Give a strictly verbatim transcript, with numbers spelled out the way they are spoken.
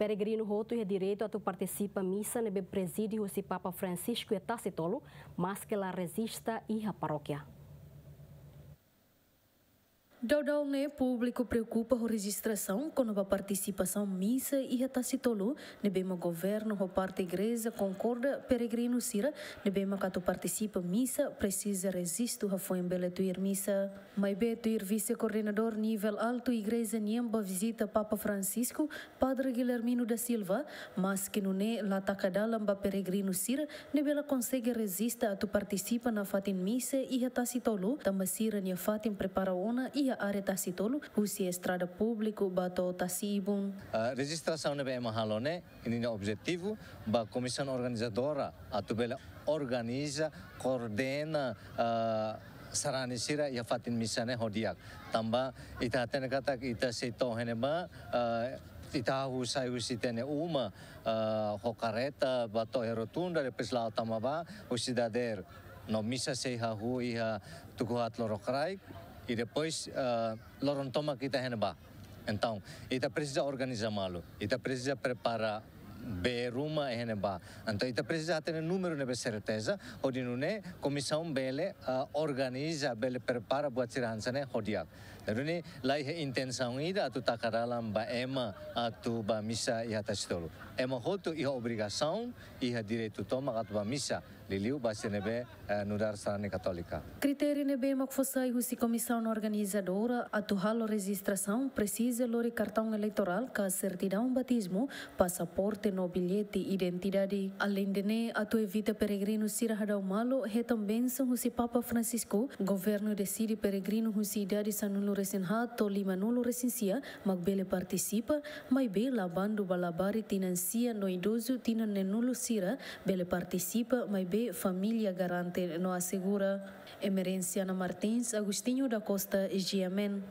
Peregrinu hotu iha direitu atu partisipa misa ne'ebé prezide husi Papa Francisco iha Tasi Tolu, maske la rejista iha parókia. Daudaun ne'e públiku preokupa ho rejistrasaun kona-ba partisipasaun misa iha Tasi Tolu, ne'ebé mak governu ho parte igreja konkorda peregrinu sira ne'ebé mak atu partisipa misa presiza rejistu hafoin bele tuir misa. Maibé tuir vise-koordenadór nivel altu igreja nian ba vizita Papa Francisco, Padre Guilhermino da Silva, maske nune'e la taka dalan ba peregrinu sira ne'ebé la konsege rejista atu partisipa nafatin misa iha Tasi Tolu, tanba sira-nia fatin prepara ona iha área Tasi Tolu, husi estrada públiku ba to'o Tasi Ibun. Ah, rejistrasaun ne'ebé ema halo ne'e, ninia objetivu ba komisaun organizadora atu bele organiza, koordena, ah, sarani sira iha fatin misa ne'e ho di'ak. Tanba ita hatene katak ita sei to'o iha ne'ebá, ah, ita hahú sai husi ita-nia uma, ah, ho karreta ba to'o iha rotunda, depois la'o tama ba husi dadeer. No misa sei hahú iha tuku haat lorokraik, i depois, ah, loron tomak ita iha ne'ebá. Entaun, ita presiza organiza malu, ita presiza prepara bee ruma iha ne'ebá. Entaun, ita presiza hatene númeru ne'ebé serteza, hodi nune'e komisaun bele, ah, organiza, bele prepara buat sira hanesan ne'e ho di'ak. Entaun, ne'e la iha intensaun ida atu taka dalan ba ema atu ba misa iha Tasi Tolu. Ema hotu iha obrigasaun, iha direitu tomak atu ba misa, liuliu ba sira ne'ebé, eh, nu'udar sarani katólika. Kritériu ne'ebé mak fó sai husi komisaun organizadora atu halo rejistrasaun presiza lori kartaun eleitorál ka sertidaun batizmu, pasaporte no billete identidade. Aleinde ne'e, atu evita peregrinu sira hadau malu hetan bensaun husi Papa Francisco, governu deside peregrinu husi idade sanulu-resin-haat to'o limanulu-resin-sia mak bele partisipa, maibé la bandu ba labarik tinan sia no idozu tinan neenulu sira bele partisipa, maibé família garante no asegura. Emerenciana Martins, Agostinho da Costa, G M N.